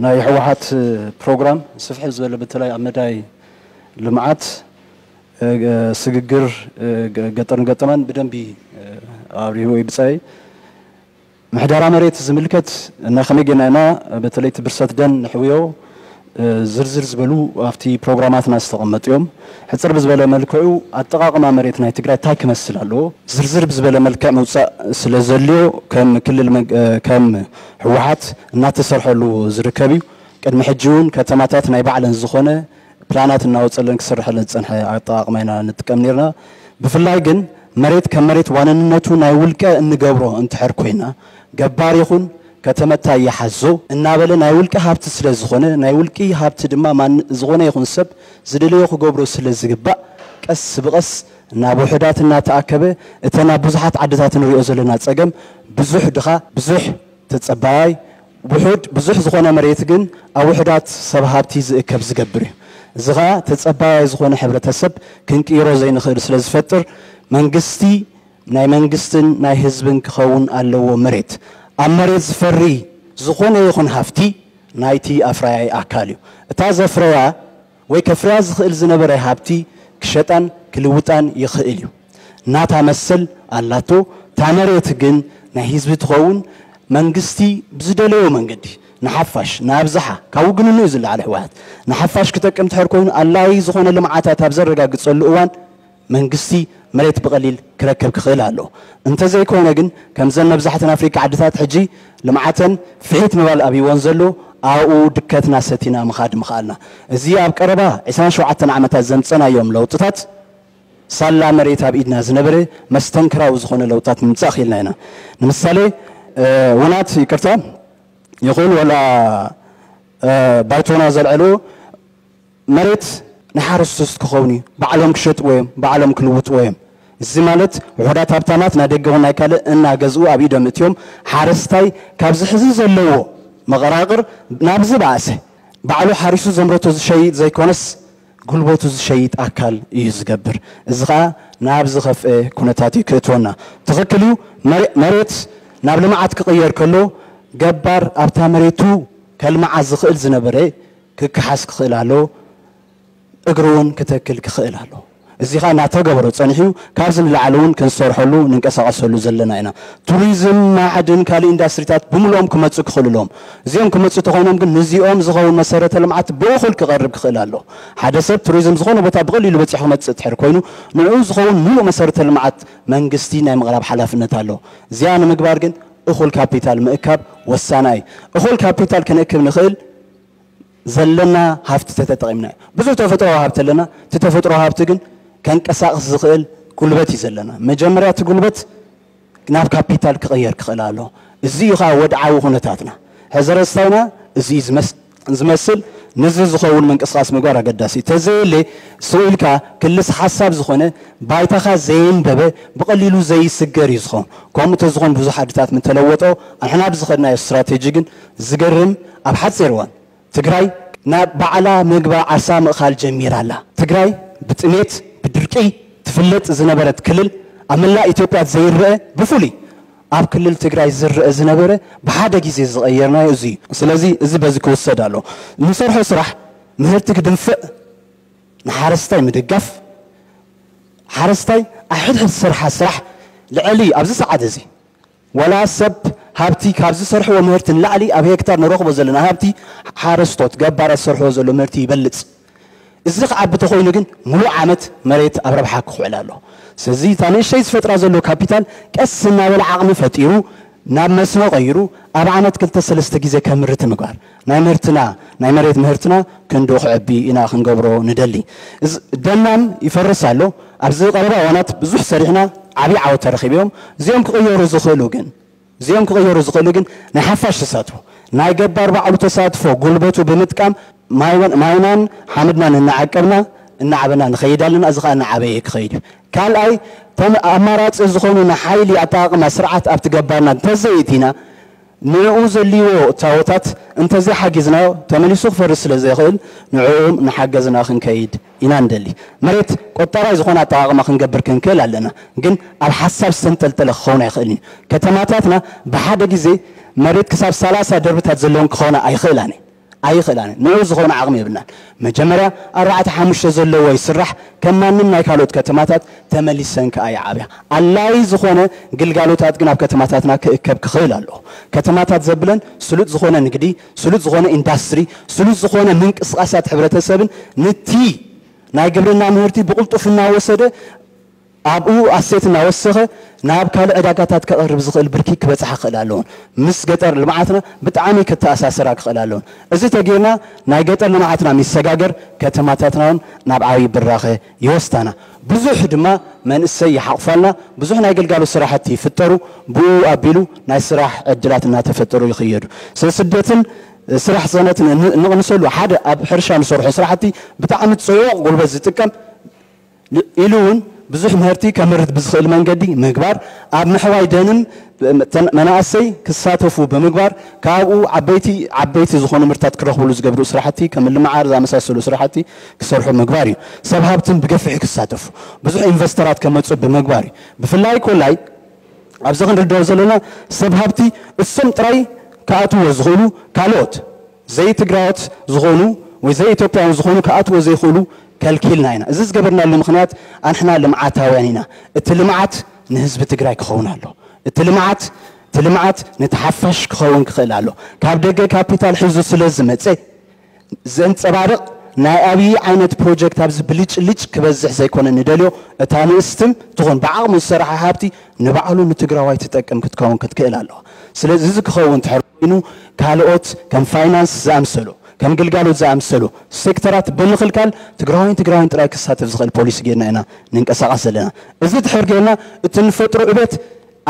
ናይ ህወሓት ፕሮግራም ስፍሕ ዝበለ በተለይ ኣብ መዳይ ልምዓት፣ ስግግር፣ ገጠርን ገጠማን ብደንቢ ኣብሪሁ ወይ ብጻይ ምሕደራ መሬት ዝምልከት እና ከመይ ጌና ኢና በተለይ እቲ ብርሰት ደን ንሕውዮ ዝርዝር ዝበሉ ኣብቲ ፕሮግራማትና ዝተቐመጡ እዮም። ሕፅር ብዝበለ መልክዑ ኣጠቓቕማ መሬት ናይ ትግራይ እንታይ ክመስል ኣለዎ ዝርዝር ብዝበለ መልክዕ ምውፃእ ስለ ዘልዮ ከም ክልል ከም ህወሓት እናተሰርሐሉ ዝርከብ እዩ። ቅድሚ ሕጂ እውን ከተማታት ናይ ባዕለን ዝኾነ ፕላናት እናወፀለን ክስርሐለን ዝፀንሐ ኣጠቓቕማ ኢና ንጥቀም ነርና። ብፍላይ ግን መሬት ከም መሬት ዋንነቱ ናይ ውልቀ እንገብሮ እንትሕር ኮይና ገባር ይኹን ከተመታይ ይሓዞ እናበለ ናይ ውልቂ ሃብቲ ስለ ዝኾነ ናይ ውልቂ ሃብቲ ድማ ማን ዝኾነ ይኹን ሰብ ዝደለዮ ክገብሮ ስለ ዝግባእ ቀስ ብቐስ ናብ ውሑዳት እናተኣከበ እተን ኣብ ብዙሓት ዓድታት ንሪኦ ዘለና ፀገም ብዙሕ ድኻ ብዙሕ ተጸባያይ ውሑድ ብዙሕ ዝኾነ መሬት ግን ኣብ ውሑዳት ሰብ ሃብቲ ዝእከብ ዝገብር እዩ። እዚ ኸኣ ተጸባያይ ዝኾነ ሕብረተሰብ ክንቅይሮ ዘይንኽእል ስለ ዝፈጥር መንግስቲ ናይ መንግስትን ናይ ህዝብን ክኸውን ኣለዎ። መሬት ኣብ መሬት ዝፈሪ ዝኾነ ይኹን ሃፍቲ ናይቲ ኣፍራያይ ኣካል እዩ። እታ ዘፍረያ ወይ ከፍርያ ዝኽእል ዝነበረ ሃብቲ ክሸጣን ክልውጣን ይኽእል እዩ። ናታ መሰል ኣላቶ። እታ መሬት ግን ናይ ህዝቢ ትኸውን። መንግስቲ ብዝደለዮ መንገዲ ንሓፋሽ ንኣብዝሓ ካብ ውግንኑ እዩ ዝለዓለ ህወሓት ንሓፋሽ ክጠቅም ትሕር ኮይኑ ኣላዪ ዝኾነ ልምዓታት ኣብ ዘረጋግፀሉ እዋን መንግስቲ መሬት ብቐሊል ክረክብ ክኽእል ኣሎ። እንተዘይኮነ ግን ከምዘን መብዛሕተን ኣፍሪካ ዓድታት ሕጂ ልምዓተን ፍሒት ምባል ኣብይወን ዘሎ ኣብኡ ድከትና ሰቲና ምኻድ ምኽኣልና። እዚ ኣብ ቀረባ ዕስራን ሸውዓተን ዓመታት ዘምፀናዮም ለውጥታት ሳላ መሬት ኣብ ኢድና ዝነበረ መስተንክራዊ ዝኾነ ለውጥታት ንምምፃእ ክኢልና ኢና። ንምሳሌ ውናት ይቅርታ ይኹን ወላ ባይቶና ዘልዐሉ መሬት ንሓረስቶት ክኸውን እዩ። ባዕሎም ክሸጥዎ እዮም፣ ባዕሎም ክልውጥዎ እዮም። እዚ ማለት ውሑዳት ሃብታማት ናይ ደገ ኹን ናይ ካልእ እናገዝኡ ኣብ ኢዶም እትዮም ሓረስታይ ካብዚ ሕዚ ዘለዎ መቐራቕር ናብ ዝበኣሰ ባዕሉ ሓሪሱ ዘምረቶ ዝሸይጥ ዘይኮነስ ጉልበቱ ዝሸይጥ ኣካል እዩ ዝገብር። እዚ ኸኣ ናብ ዝኸፍአ ኩነታት እዩ ክእትወና። ትኽክል እዩ። መሬት ናብ ልምዓት ክቕየር ከሎ ገባር ኣብታ መሬቱ ከልምዓ ዝኽእል ዝነበረ ክከሓስ ክኽእል ኣለዎ። እግሪ እውን ክተክል ክኽእል ኣለዎ። እዚ ኸኣ እናተገበሮ ጸኒሑ ካብዚ ንላዕሊ እውን ክንሰርሐሉ ንንቀሳቐሰሉ ዘለና ኢና። ቱሪዝም፣ ማዕድን፣ ካልእ ኢንዳስትሪታት ብምልኦም ክመጹ ክኽእሉ ኣለዎም። እዚኦም ክመጹ ተኾይኖም ግን ንዚኦም ዝኸውን መሰረተ ልምዓት ብእኹል ክቐርብ ክኽእል ኣለዎ። ሓደ ሰብ ቱሪዝም ዝኾነ ቦታ ብቐሊሉ በጺሑ ክመጽእ ትሕር ኮይኑ ንዕኡ ዝኸውን ሙሉእ መሰረተ ልምዓት መንግስቲ ናይ ምቕራብ ሓላፍነት ኣለዎ። እዚኣ ንምግባር ግን እኹል ካፒታል ምእካብ ወሳናይ። እኹል ካፒታል ክንእክብ ንኽእል ዘለና ሃፍቲ ተተጠቒምና እዩ። ብዙሕ ተፈጥሮዊ ሃብቲ ኣለና። እቲ ተፈጥሮዊ ሃብቲ ግን ከንቀሳቕስ ዝኽእል ጉልበት እዩ ዘለና። መጀመርያ እቲ ጉልበት ናብ ካፒታል ክቕየር ክኽእል ኣሎ። እዚ እዩ ከዓ ወድዓዊ ኩነታትና። ሕዚ ረስታይና እዚ እዩ ዝመስል። ንዚ ዝኸውን ምንቅስቃስ ምግባር ኣገዳሲ እዩ። ተዘየለ ስቕ ኢልካ ክልስ ሓሳብ ዝኾነ ባይታኻ ዘየንበበ ብቐሊሉ ዘይስገር እዩ ዝኸውን። ከምኡ ተዝኾን ብዙሕ ዓድታት ምተለወጦ ኣንሕና ብዝኸድናዮ ስትራቴጂ ግን ዝገርም ኣብ ሓፂር እዋን ትግራይ ናብ ባዕላ ምግባ ዓሳ ምእኻል ጀሚራ ኣላ። ትግራይ ብጥሜት ብድርቂ ትፍለጥ ዝነበረት ክልል ኣብ መላእ ኢትዮጵያ ዘይረአ ብፍሉይ ኣብ ክልል ትግራይ ዝረአ ዝነበረ ብሓደ ግዜ ዝቐየርናዮ እዚ እዩ። ስለዚ እዚ በዚ ክውሰድ ኣሎ። ንሰርሖ ስራሕ ምህርቲ ክድንፍዕ ንሓረስታይ ምድጋፍ ሓረስታይ ኣብ ሕድሕድ ዝሰርሓ ስራሕ ልዕሊ ኣብዚ ሰዓት እዚ ወላ ሰብ ሃብቲ ካብ ዝሰርሕዎ ምህርቲ ንላዕሊ ኣብ ሄክታር ንረኽቦ ዘለና ሃብቲ ሓረስቶት ገባራት ዝሰርሕዎ ዘሎ ምህርቲ ይበልፅ። እዚ ክዓቢ ተኾይኑ ግን ሙሉእ ዓመት መሬት ኣብ ረብሓ ክውዕል ኣሎ። ስለዚ እታ ንእሽተይ ዝፈጥራ ዘሎ ካፒታል ቀስ እናበለ ዓቕሚ ፈጢሩ ናብ መስኖ ቀይሩ ኣብ ዓመት ክልተ ሰለስተ ግዜ ከምርት ምግባር ናይ ምህርትና ናይ መሬት ምህርትና ክንዱ ክዕቢ ኢና ክንገብሮ ንደሊ። ደናም ይፈርስ ኣሎ። ኣብዚ ቀረባ እዋናት ብዙሕ ሰሪሕና ዓብዪ ዓወት ተረኺቡ እዮም። እዚኦም ክቕየሩ ዝኽእሉ ግን እዚኦም ክቕየሩ ዝኽእሉ ግን ናይ ሓፋሽ ተሳትፎ ናይ ገባር ባዕሉ ተሳትፎ ጉልበቱ ብምጥቃም ማይናን ሓመድናን እናዓቀብና እናዓበና ንኸይድ ኣለና። እዚ ከዓ እናዓበየ ክኸይድ እዩ። ካልኣይ እቶም ኣማራፂ ዝኾኑ ንሓይሊ ኣጠቃቕማ ስርዓት ኣብቲ ገባርና እንተዘይእቲና ንዕኡ ዘልዎ እታወታት እንተዘይሓጊዝናዮ ተመሊሱ ክፈርስ ስለ ዘይኽእል ንዕኡ እናሓገዝና ክንከይድ ኢና ንደሊ። መሬት ቆጠባይ ዝኾነ ኣጠቃቕማ ክንገብር ክንክእል ኣለና፣ ግን ኣብ ሓሳብ ዝተንጠልጠለ ክኸውን ኣይኽእልን እዩ። ከተማታትና ብሓደ ግዜ መሬት ክሳብ ሰላሳ ደርብታት ዘለውን ክኾና ኣይኽእላን እየን። ኣይኽእላን። ንዑ ዝኾነ ዓቕሚ የብልናን። መጀመርያ ኣርባዕተ ሓሙሽተ ዘለዎ ይስራሕ፣ ከም ማንም ናይ ካልኦት ከተማታት ተመሊሰን ከኣ ይዓብያ። ኣድላይ ዝኾነ ግልጋሎታት ግን ኣብ ከተማታትና ክእከብ ክኽእል ኣለዎ። ከተማታት ዘብለን ስሉጥ ዝኾነ ንግዲ፣ ስሉጥ ዝኾነ ኢንዳስትሪ፣ ስሉጥ ዝኾነ ምንቅስቓሳት ሕብረተሰብን ንቲ ናይ ግብርና ምህርቲ ብቕልጡፍ እናወሰደ ኣብኡ ኣሴት እናወሰኸ ናብ ካልእ ዕዳጋታት ከቕርብ ዝኽእል ብርኪ ክበጽሓ ክኽእል ኣለዎን። ምስ ገጠር ልምዓትና ብጣዕሚ ክተኣሳሰራ ክኽእል ኣለዎን። እዚ ተጌርና ናይ ገጠር ልምዓትና ሚሰጋገር ከተማታትና እውን ናብ ዓብዪ ብራኸ ይወስዳና። ብዙሕ ድማ መንእሰይ ይሓቑፋልና። ብዙሕ ናይ ግልጋሎት ስራሕቲ ይፍጠሩ። ብኡ ኣቢሉ ናይ ስራሕ ዕድላት እናተፈጠሩ ይኽየዱ። ስለ ስደትን ስራሕ ሰነት ንቕንሰሉ ሓደ ኣብ ሕርሻ ንሰርሖ ስራሕቲ ብጣዕሚ ጽዑቕ ጉልበት ዝጥቀም ኢሉ እውን ብዙሕ ምህርቲ ከምርት ብዝኽእል መንገዲ ምግባር፣ ኣብ ምሕዋይ ደንም መናእሰይ ክሳተፉ ብምግባር ካብኡ ዓበይቲ ዓበይቲ ዝኾኑ ምርታት ክረኽብሉ ዝገብሩ ስራሕቲ ከም ልምዓር ዝኣመሳሰሉ ስራሕቲ ክሰርሑ ምግባር እዩ። ሰብ ሃብትን ብገፊሑ ክሳተፉ ብዙሕ ኢንቨስተራት ከመፁ ብምግባር እዩ። ብፍላይ ኮላይ ኣብዚ ክንርድኦ ዘለና ሰብ ሃብቲ እሶም ጥራይ ክኣትዎ ዝኽእሉ ካልኦት ዘይትግራዎት ዝኾኑ ወይ ዘይኢትዮጵያውያን ዝኾኑ ክኣትዎ ዘይኽእሉ ከልኪልና ኢና። እዚ ዝገበርናሉ ምኽንያት ኣንሕና ልምዓታውያን ኢና። እቲ ልምዓት ንህዝቢ ትግራይ ክኸውን ኣሎ። እቲ ልምዓት እቲ ልምዓት ነቲ ሓፋሽ ክኸውን ክኽእል ኣሎ። ካብ ደገ ካፒታል ሒዙ ስለ ዝመፀ ዘንፀባርቕ ናይ ኣብዪ ዓይነት ፕሮጀክት ኣብዚ ብልጭልጭ ክበዝሕ ዘይኮነ ንደልዮ እታ ንእስትን ትኹን ብዓቕሙ ዝሰራሓ ሃብቲ ንባዕሉ ንትግራዋይ ትጠቅም ክትከውን ክትክእል ኣለዋ። ስለዚ እዚ ክኸውን ትሕር ኮይኑ ካልኦት ከም ፋይናንስ ዝኣምሰሉ ከም ግልጋሎት ዝኣምሰሉ ሴክተራት ብምኽልካል ትግራዋይን ትግራዋይን ጥራይ ክሳተፍ ዝኽእል ፖሊሲ ጌርና ኢና ንንቀሳቐስ ዘለና። እዚ ድሕር ጌርና እቲ ንፈጥሮ ዕቤት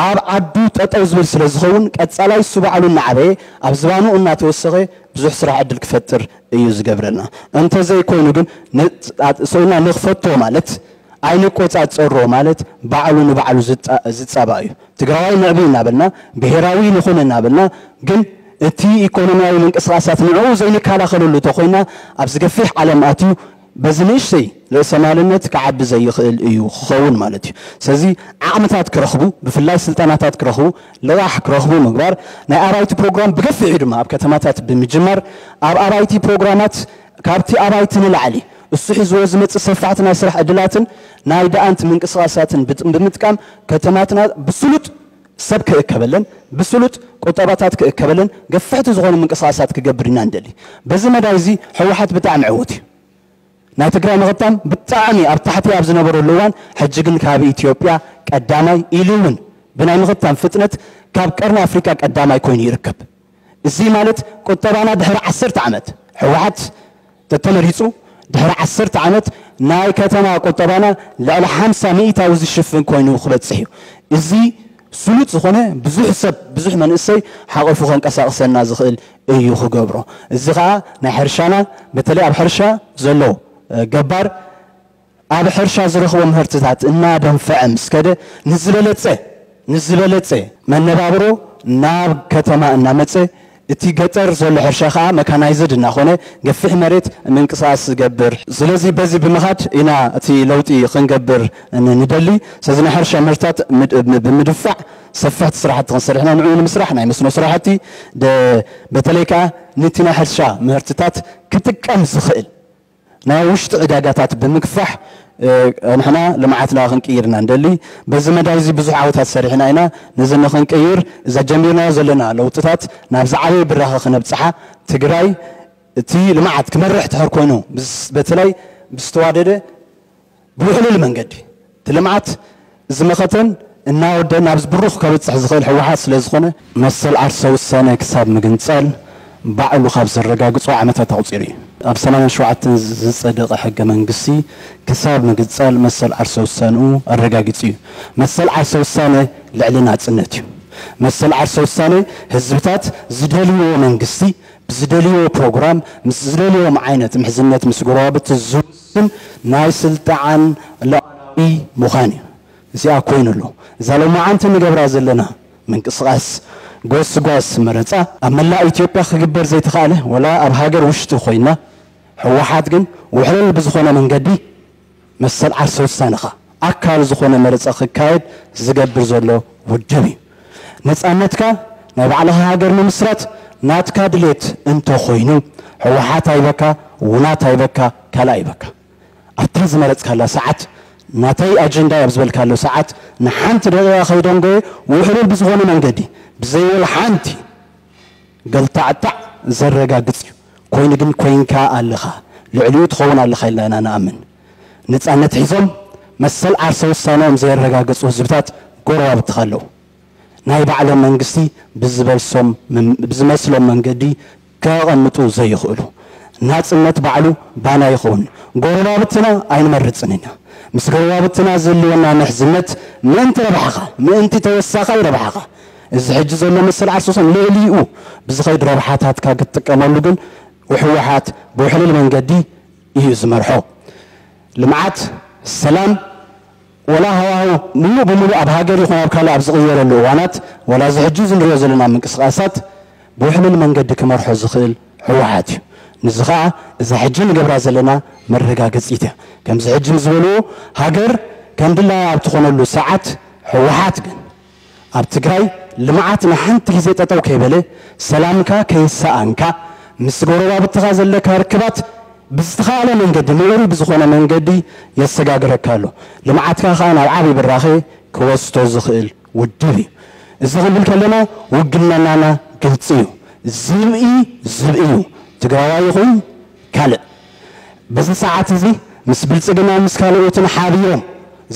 ኣብ ዓዱ ጠጠው ዝብል ስለ ዝኸውን ቀጻላይ እሱ ባዕሉ እናዓበየ ኣብ ዝባኑ እናተወሰኸ ብዙሕ ስራሕ ዕድል ክፈጥር እዩ ዝገብረልና። እንተዘይኮይኑ ግን ሰውና ንኽፈቶ ማለት ኣይንቆጻጸሮ ማለት ባዕሉ ንባዕሉ ዝጻባእ እዩ። ትግራዋይ ንዕቢ እናበልና ብሄራዊ ንኹን እናበልና ግን እቲ ኢኮኖሚያዊ ምንቅስቃሳት ንዕኡ ዘይንከላኸለሉ ተኮይና ኣብዚ ገፊሕ ዓለም ኣትዩ በዚ ንእሽተይ ርእሰማልነት ክዓቢ ዘይኽእል እዩ ክኸውን ማለት እዩ። ስለዚ ዓቕምታት ክረኽቡ ብፍላይ ስልጠናታት ክረኽቡ ልቓሕ ክረኽቡ ምግባር ናይ ኣባይቲ ፕሮግራም ብገፊሑ ድማ ኣብ ከተማታት ብምጅማር ኣብ ኣባይቲ ፕሮግራማት ካብቲ ኣባይቲ ንላዕሊ እሱ ሒዝዎ ዝመፅእ ሰፋሕቲ ናይ ስራሕ ዕድላትን ናይ ደኣንት ምንቅስቃሳትን ብምጥቃም ከተማትና ብስሉጥ ሰብ ክእከበለን ብስሉጥ ቁጠባታት ክእከበለን ገፍሕቲ ዝኾኑ ምንቅስቃሳት ክገብር ኢና ንደሊ። በዚ መዳይ እዚ ህወሓት ብጣዕሚ ዕዉት እዩ። ናይ ትግራይ ምኽታም ብጣዕሚ ኣብ ታሕቲ ኣብ ዝነበረሉ እዋን ሕጂ ግን ካብ ኢትዮጵያ ቀዳማይ ኢሉ እውን ብናይ ምኽታም ፍጥነት ካብ ቀርኒ ኣፍሪካ ቀዳማይ ኮይኑ ይርከብ። እዚ ማለት ቁጠባና ድሕሪ ዓሰርተ ዓመት ህወሓት ተተመሪፁ ድሕሪ ዓሰርተ ዓመት ናይ ከተማ ቁጠባና ልዕሊ ሓምሳ ሚእታዊ ዝሽፍን ኮይኑ ክበፅሕ እዩ። እዚ ስሉጥ ዝኾነ ብዙሕ ሰብ ብዙሕ መንእሰይ ሓቂፉ ከንቀሳቕሰና ዝኽእል እዩ ክገብሮ። እዚ ከዓ ናይ ሕርሻና በተለይ ኣብ ሕርሻ ዘሎ ገባር ኣብ ሕርሻ ዝረኽቦ ምህርትታት እናደንፈዐ ምስ ከደ ንዝበለፀ ንዝበለፀ መነባብሮ ናብ ከተማ እናመፀ እቲ ገጠር ዘሎ ሕርሻ ከዓ መካናይዝድ እናኾነ ገፊሕ መሬት ምንቅስቃስ ዝገብር። ስለዚ በዚ ብምኻድ ኢና እቲ ለውጢ ክንገብር ንደሊ። ስለዚ ናይ ሕርሻ ምህርትታት ብምድፋዕ ሰፋሕቲ ስራሕቲ ክንሰርሕ ኢና። ንዕኡ ንምስራሕ ናይ መስኖ ስራሕቲ በተለይ ከዓ ነቲ ናይ ሕርሻ ምህርትታት ክጥቀም ዝኽእል ናይ ውሽጢ ዕዳጋታት ብምግፋሕ ንሕና ልምዓትና ክንቅይር ኢና ንደሊ። በዚ መዳይ እዚ ብዙሕ ዓወታት ሰሪሕና ኢና። ነዚ ንክንቅይር እዛ ጀሚርናዮ ዘለና ለውጥታት ናብ ዝዓበየ ብራኸ ክነብፅሓ ትግራይ እቲ ልምዓት ክመርሕ ትሕር ኮይኑ በተለይ ብዝተዋደደ ብውሕሉል መንገዲ እቲ ልምዓት ዝመኸተን እናወደ ናብዚ ብሩኽ ከብፅሕ ዝኽእል ህወሓት ስለ ዝኾነ መሰል ዓርሰ ውሳነ ክሳብ ምግንፃል ባዕሉ ካብ ዘረጋግፆ ዓመታት ኣቑፂሩ እዩ። ኣብ ሰማንያን ሸውዓተን ዝፀደቐ ሕገ መንግስቲ ክሳብ ምግንፃል መሰል ዓርሰ ውሳንኡ ኣረጋጊፁ እዩ። መሰል ዓርሰ ውሳነ ልዕሊ ናፅነት እዩ። መሰል ዓርሰ ውሳነ ህዝብታት ዝደልይዎ መንግስቲ ብዝደልይዎ ፕሮግራም ምስ ዝደልዮም ዓይነት ምሕዝነት ምስ ጎረባብቲ ዝውስን ናይ ስልጣን ሉዓላዊ ምዃን እዩ። እዚኣ ኮይኑ ኣሎ እዛ ሎማዓንቲ ንገብራ ዘለና ምንቅስቃስ ጎስጓስ መረፃ ኣብ መላእ ኢትዮጵያ ክግበር ዘይተኻእለ ወላ ኣብ ሃገር ውሽጢ ኮይና ህወሓት ግን ውሕልል ብዝኾነ መንገዲ መሰል ዓርሰ ውሳንኻ ኣካል ዝኾነ መረፃ ክካየድ ዝገብር ዘሎ ውድብ እዩ። ነፃነትካ ናይ ባዕልኻ ሃገር ምምስራት ናትካ ድሌት እንተኾይኑ፣ ህወሓት ኣይበካ፣ ውናት ኣይበካ፣ ካልእ ኣይበካ። ኣብታ ዝመረጽካላ ሰዓት፣ ናተይ ኣጀንዳ ኣብ ዝበልካሉ ሰዓት፣ ንሓንቲ ደቂቓ ከይደንጎየ፣ ውሕሉል ብዝኾነ መንገዲ፣ ብዘይወላ ሓንቲ ገልታዕታዕ ዘረጋግጽ እዩ። ኮይኑ ግን ኮይንካ ኣለኻ፣ ልዕሊኡ ትኸውን ኣለኻ ኢልና ኢና ንኣምን። ነጻነት ሒዞም መሰል ዓርሰ ውሳነኦም ዘየረጋገጹ ህዝብታት ጎረባብትኻ ኣለዉ። ናይ ባዕሎም መንግስቲ ብዝበልሶም፣ ብዝመስሎም መንገዲ ከቐምጡ ዘይኽእሉ። ናጽነት ባዕሉ ባና ይኸውን። ጎረባብትና ኣይንመርጽን ኢና። ምስ ጎረባብትና ዘልወና ምሕዝነት ምእንቲ ረብሓኻ፣ ምእንቲ ተወሳኻይ ረብሓኻ፣ እዚ ሕጂ ዘሎ መሰል ዓርሰ ውሳነ ልዕሊኡ ብዝኸይድ ረብሓታትካ ክትጥቀመሉ ግን ህወሓት ብውሕሉል መንገዲ እዩ ዝመርሖ። ልምዓት፣ ሰላም፣ ወላ ሃዋህው ሙሉእ ብሙሉእ ኣብ ሃገር ይኹን ኣብ ካልእ ኣብ ዝቕየረሉ እዋናት፣ ወላ እዚ ሕጂ እዚ ንሪኦ ዘለና ምንቅስቓሳት ብውሕሉል መንገዲ ክመርሖ ዝኽእል ህወሓት እዩ። ንዚ ኸኣ እዛ ሕጂ ንገብራ ዘለና መረጋገጺት እያ። ከምዚ ሕጂ ምስ ዝበልዎ፣ ሃገር ከም ድላያ ኣብ ትኾነሉ ሰዓት ህወሓት ግን ኣብ ትግራይ ልምዓት ንሓንቲ ግዜ ጠጠው ከይበለ፣ ሰላምካ ከይሰኣንካ፣ ምስ ጎረባብትኻ ዘለካ ርክባት ብዝተኻእለ መንገዲ፣ ምዕሩይ ብዝኾነ መንገዲ የሰጋግረካ ኣሎ። ልምዓትካ ኸኣ ናብ ዓብዪ ብራኸ ክወስዶ ዝኽእል ውድብ እዩ። እዚ ክንብል ከለና ውግንናና ግልጺ እዩ። ዝብኢ ዝብኢ እዩ። ትግራዋይ ይኹን ካልእ። በዚ ሰዓት እዚ ምስ ብልጽግና ምስ ካልኦትን ሓቢሮም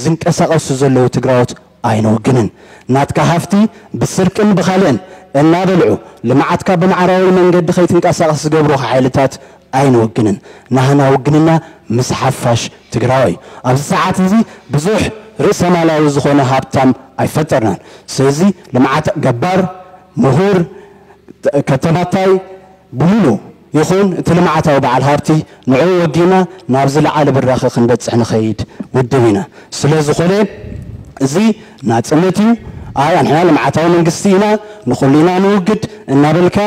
ዝንቀሳቐሱ ዘለዉ ትግራዎት ኣይንውግንን። ናትካ ሃፍቲ ብስርቅን ብኻልእን እናበልዑ ልምዓትካ ብማዕራዊ መንገዲ ከይትንቀሳቐስ ዝገብሩኻ ሓይልታት ኣይንውግንን። ናህና ውግንና ምስ ሓፋሽ ትግራዋይ እዩ። ኣብዚ ሰዓት እዚ ብዙሕ ርእሰ ማላዊ ዝኾነ ሃብታም ኣይፈጠርናን። ስለዚ ልምዓት ገባር፣ ምሁር፣ ከተማታይ፣ ብምሉእ ይኹን እቲ ልምዓታዊ በዓል ሃብቲ ንዕኡ ወጊና ናብ ዝለዓለ ብራኸ ክንበጽሕ ንኸይድ ውድብ ኢና። ስለ ዝኾነ እዚ ናጽነት እዩ። ኣይ ኣንሕና ልምዓታዊ መንግስቲ ኢና፣ ንኹሉ ኢና ንውግድ እናበልካ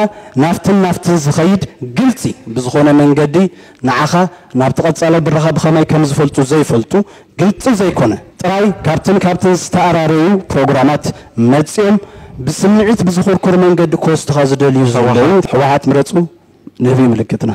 ናብትን ናብትን ዝኸይድ ግልጺ ብዝኾነ መንገዲ ንዓኻ ናብቲ ቀጻሊ ብራኸ ብኸመይ ከም ዝፈልጡ ዘይፈልጡ ግልጺ ዘይኮነ ጥራይ ካብትን ካብትን ዝተኣራረዩ ፕሮግራማት መጺኦም ብስምዒት ብዝኹርኩር መንገዲ ክወስዱኻ ዝደልዩ ዘለዉ ህወሓት ምረጹ ንህቢ ምልክትና።